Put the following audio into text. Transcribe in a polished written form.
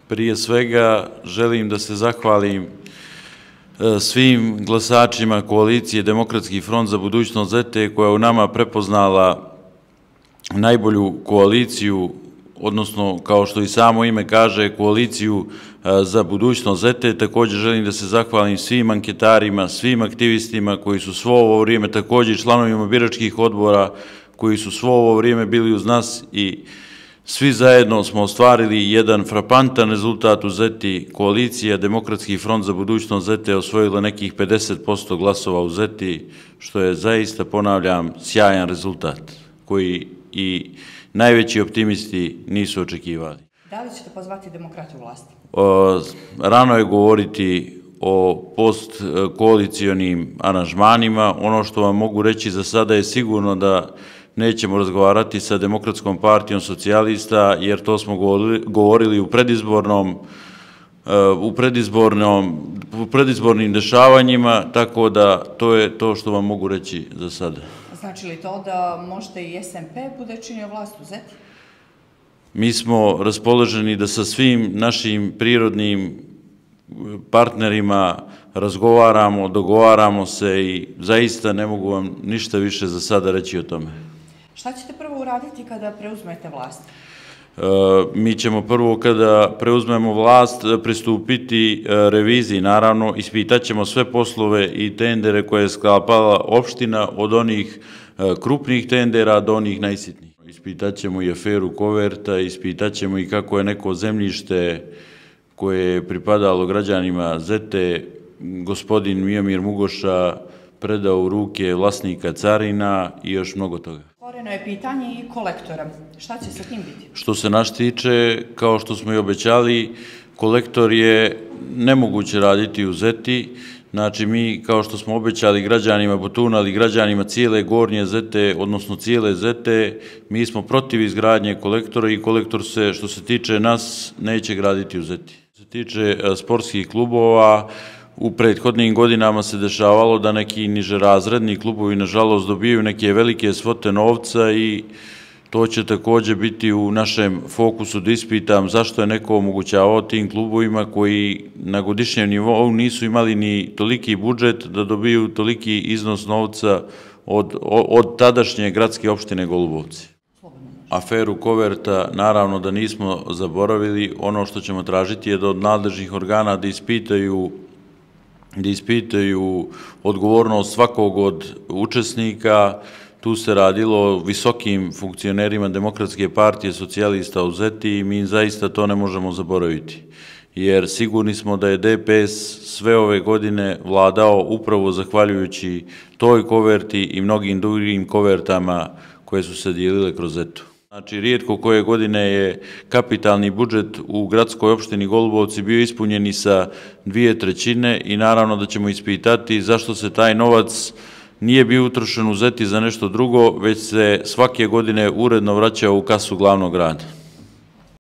Prije svega želim da se zahvalim svim glasačima koalicije Demokratski front za budućnost ZT koja je u nama prepoznala najbolju koaliciju, odnosno kao što i samo ime kaže, koaliciju za budućnost ZT. Također želim da se zahvalim svim anketarima, svim aktivistima koji su svo ovo vrijeme, također članovima biračkih odbora koji su svo ovo vrijeme bili uz nas i svi zajedno smo ostvarili jedan frapantan rezultat u ZT. Koalicija Demokratski front za budućnost ZT osvojila nekih 50% glasova u ZT, što je zaista, ponavljam, sjajan rezultat koji i najveći optimisti nisu očekivali. Da li ćete pozvati demokrate u vlasti? Rano je govoriti o postkoalicijonim aranžmanima. Ono što vam mogu reći za sada je sigurno da nećemo razgovarati sa Demokratskom partijom socijalista, jer to smo govorili u predizbornim dešavanjima, tako da to je to što vam mogu reći za sada. Znači li to da možete i SMP bude činio vlast u ZT? Mi smo raspoloženi da sa svim našim prirodnim partnerima razgovaramo, dogovaramo se i zaista ne mogu vam ništa više za sada reći o tome. Šta ćete prvo uraditi kada preuzmete vlast? Mi ćemo prvo kada preuzmemo vlast pristupiti reviziji, naravno ispitat ćemo sve poslove i tendere koje je sklapala opština, od onih krupnih tendera do onih najsitnijih. Ispitat ćemo i aferu koverta, ispitat ćemo i kako je neko zemljište koje je pripadalo građanima ZT, gospodin Mijomir Mugoša, predao u ruke vlasnika carina i još mnogo toga. Otvoreno je pitanje i kolektora. Šta će sa tim biti? Što se nas tiče, kao što smo i obećali, kolektor je nemoguće raditi u ZT. Znači, mi, kao što smo obećali građanima, potunali građanima cijele Gornje ZT, odnosno cijele ZT, mi smo protiv izgradnje kolektora i kolektor se, što se tiče nas, neće graditi u ZT. Što se tiče sportskih klubova, u prethodnim godinama se dešavalo da neki nižerazredni klubovi, nažalost, dobijaju neke velike svote novca i to će također biti u našem fokusu da ispitam zašto je neko omogućavao tim klubovima koji na godišnjem nivou nisu imali ni toliki budžet da dobiju toliki iznos novca od tadašnje gradske opštine Golubovci. Aferu koverta naravno da nismo zaboravili. Ono što ćemo tražiti je da od nadležnih organa da ispitaju odgovornost svakog od učesnika. Tu se radilo o visokim funkcionerima Demokratske partije socijalista u ZT i mi zaista to ne možemo zaboraviti. Jer sigurni smo da je DPS sve ove godine vladao upravo zahvaljujući toj koverti i mnogim drugim kovertama koje su se dijelile kroz ZT. Znači, rijetko koje godine je kapitalni budžet u gradskoj opštini Golubovci bio ispunjen i sa 2/3 i naravno da ćemo ispitati zašto se taj novac nije bio utrošen u ZT za nešto drugo, već se svake godine uredno vraćao u kasu glavnog grada.